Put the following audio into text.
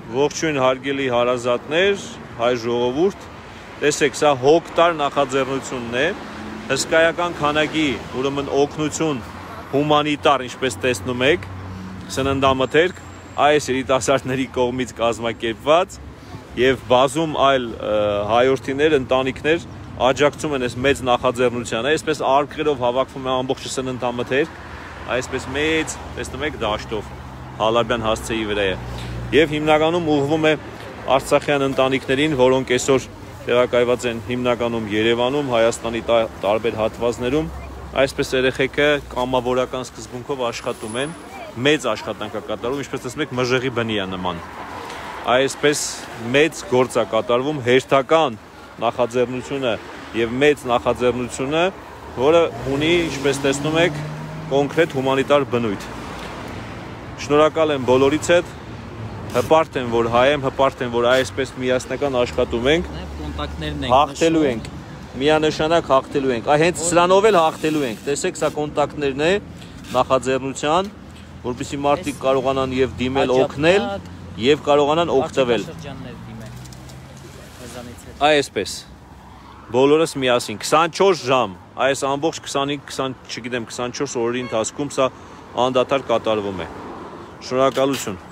Ողջույն հարգելի հարազատներ, հայ ժողովուրդ, տեսեք, սա հոգտար նախաձեռնությունն է, հսկայական քանակի, ուրեմն օգնություն հումանիտար, ինչպես տեսնում եք, սննդամթերք, այս երիտասարդների կողմից կազմակերպված եւ բազում այլ հայորդիներ, ընտանիքներ աջակցում են այս մեծ նախաձեռնությանը, այսպես արկղերով հավաքվում է ամբողջ սննդամթերք, այսպես մեծ, տեսնում եք, դաշտով Հալաբյան հասցեի վրա է։ Եվ հիմնականում ուղղվում է արցախյան ընտանիքներին, որոնք այսօր տեղակայված են հիմնականում Երևանում, Հայաստանի տարբեր հատվածներում, այսպես երեխեքը կամավորական սկզբունքով աշխատում են, մեծ աշխատանք է կատարում, ինչպես տեսնում եք, մժեղի բնի է նման։ Այսպես մեծ գործ է կատարվում, հերթական նախաձեռնությունը եւ մեծ նախաձեռնությունը, որը ունի, ինչպես տեսնում եք, կոնկրետ հումանիտար բնույթ։ Շնորհակալ եմ բոլորից հետ, հպարտ եմ, որ հայ եմ, հպարտ եմ, որ այսպես միասնական աշխատում ենք, հաղթելու ենք, միանշանակ հաղթելու ենք, հենց սրանով էլ հաղթելու ենք, տեսեք, սա կոնտակտներն է նախաձեռնության, որպեսզի մարդիկ կարողանան եւ դիմել օգնել եւ կարողանան օգտվել։ Այսպես, բոլորս միասին, 24 ժամ, այս ամբողջ 25, չգիտեմ, 24 օրերի ընթացքում սա անդադար կատարվում է։ Շնորհակալություն։